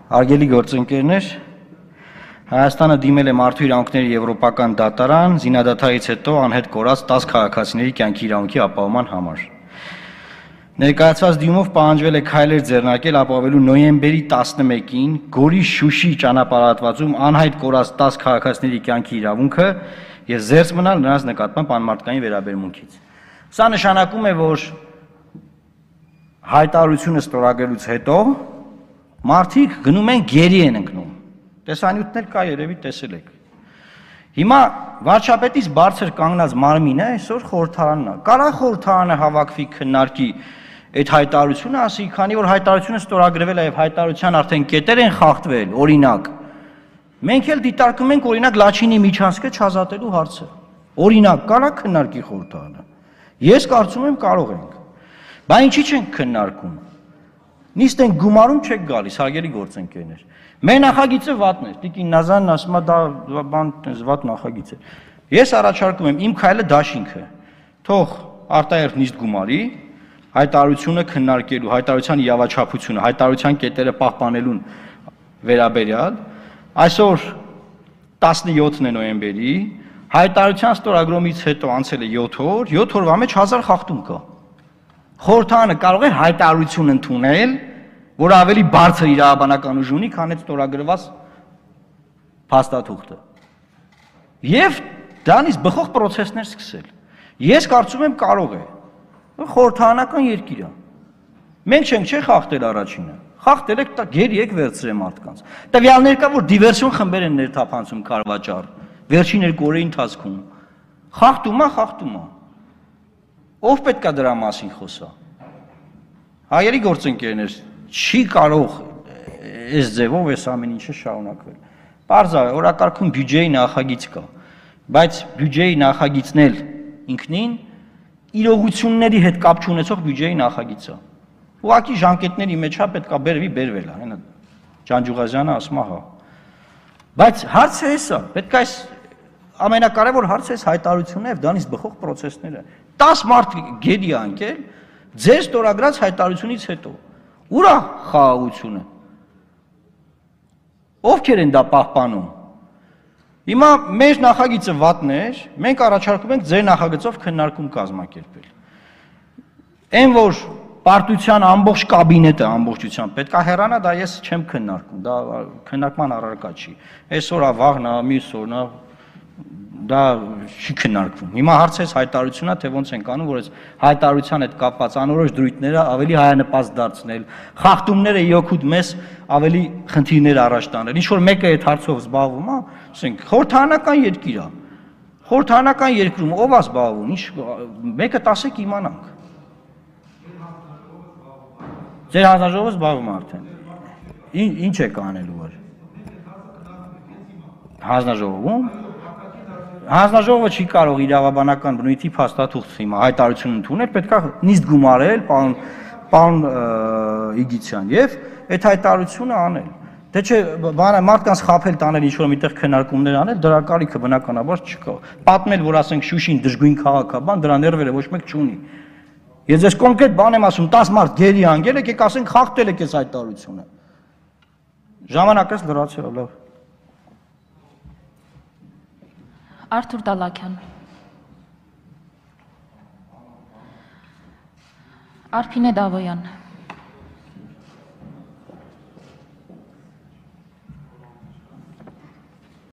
Արգելի գործընկերներ, Հայաստանը դիմել է Մարդու իրավունքների եվրոպական դատարան զինադադարից հետո անհետ կորած 10 քաղաքացիների կյանքի իրավունքի ապահովման համար։ Ներկայացված դիմումով պահանջվել է քայլեր ձեռնարկել ապահովելու նոյեմբերի 11-ին Գորի Շուշի ճանապարհատվածում անհայտ կորած 10 քաղաքացիների կյանքի իրավունքը եւ զերծ մնալ նրանց նկատմամբ անմարդկային վերաբերմունքից։ Սա նշանակում է, որ հայտարարությունը ստորագրելուց հետո մարդիկ գնում են գերի են ընկնում։ Տեսանյութն էլ կա, երևի տեսել եք։ Հիմա վարչապետից բարձր կանգնած մարմինը այսօր խորհրդարանն է։ Կարա խորհրդարանը հավաքվի քննարկի այդ հայտարարությունը, ասի, քանի որ հայտարարությունը ստորագրվել է եւ հայտարարության արդեն կետեր են խախտվել, օրինակ։ Մենք էլ դիտարկում ենք օրինակ Լաչինի միջանցքը չազատելու հարցը։ Օրինակ, կարա քննարկի խորհրդարանը։ Ես կարծում եմ կարող ենք։ Բայց ինչի չենք քննարկում։ Նիստ են գումարում չեք գալիս, հարգելի գործընկերներ։ Մեր նախագիծը վատն է, Տիկին Նազանն ասում է դա բան վատ նախագիծ է։ Ես առաջարկում եմ իմ քայլը դաշինքը։ Թող արտահերթ նիստ գումարի, հայտարարությունը քննարկելու, հայտարարության իրավաչափությունը, հայտարարության կետերը պահպանելուն վերաբերյալ այսօր 17-ն է նոյեմբերի, հայտարարության ստորագրումից հետո անցել է 7 օր, 7 օրվա մեջ 1000 խախտում կա։ Խորհրդարանը կարող է հայտարարություն ընդունել, որ ավելի բարձր իրավաբանական ուժ ունի, քան այդ ստորագրված փաստաթուղթը։ Եվ դրանից բխող process-ներ սկսել։ Ես կարծում եմ կարող է։ Խորհրդարանական երկիր է։ Մենք չենք չէ խախտել առաջինը։ Խախտել եք գերի եք վերցրել մարդկանց։ Տվյալներ կա, որ դիվերսիոն խմբեր են ներթափանցում Քարվաճառ վերջին 2 օրերի ընթացքում։ Խախտում է։ Ով պետք է դրա մասին խոսա։ Հայերի գործընկերներ, չի կարող այս ձևով այս ամեն ինչը շարունակվել։ Պարզ է, օրակարգում բյուջեի նախագիծ կա, բայց բյուջեի նախագիծն էլ ինքնին իրողությունների հետ կապ չունեցող բյուջեի նախագիծ է։ Ուղղակի ժամկետների մեջ է պետք է բերվել է, հենա Ջանջուղազյանը ասում է հա։ Բայց հարցը էսա, պետք է այս ամենակարևոր հարցը էս հայտարարությունն է եւ դրանից բխող process-ները։ 10 մարդ գերի անկել ձեր ստորագրած հայտարարությունից հետո։ Ուր է խաղաղությունը։ Ովքեր են դա պահպանում։ Հիմա մեր նախագիծը վատն էր, մենք առաջարկում ենք ձեր նախագծով քննարկում կազմակերպել։ Այն որ պարտության ամբողջ կաբինետը ամբողջությամբ պետք է հեռանա, դա ես չեմ քննարկում, դա քննարկման առարկա չի։ Այսօր է, վաղն է, մյուս օրն է, դա չի քննարկվում։ Հիմա հարցը էս հայտարարությունն է, թե ոնց ենք անում, որ այս հայտարարության հետ կապված անորոշ դրույթները ավելի հայանպաստ դարձնել, խախտումները իօքուտ մեզ ավելի խնդիրներ առաջ տանել։ Ինչ որ մեկը այդ հարցով զբաղվում է, ասենք խորհրդարանական երկիր է։ Խորհրդարանական երկրում ով է զբաղվում, ինչ մեկը տասեք իմանանք։ Ձեր հանձնաժողովը զբաղվում է արդեն։ Ինչ եք անելու որ։ Հանձնաժողովում Հանձնաժողովը չի կարող իրավաբանական բնույթի փաստաթուղթ հիմա հայտարարություն ընդունել, պետք է նիստ գումարել պարոն Իգիցյան եւ այդ հայտարարությունը անել։ Դե չէ, մարդկանց խաբել տանել ինչ որ միտեղ քննարկումներ անել, դրա կարիքը բնականաբար չկա։ Պատմել, որ ասենք Շուշին դժգույն քաղաք է, բան դրա ներվերը ոչ մեկ չունի։ Ես ես կոնկրետ բան եմ ասում, 10 մարդ գերի անգել եք, ասենք խախտել եք այս հայտարարությունը։ Ժամանակս լրացել, լավ։ Արթուր Դալաքյան Արփինե Դավոյան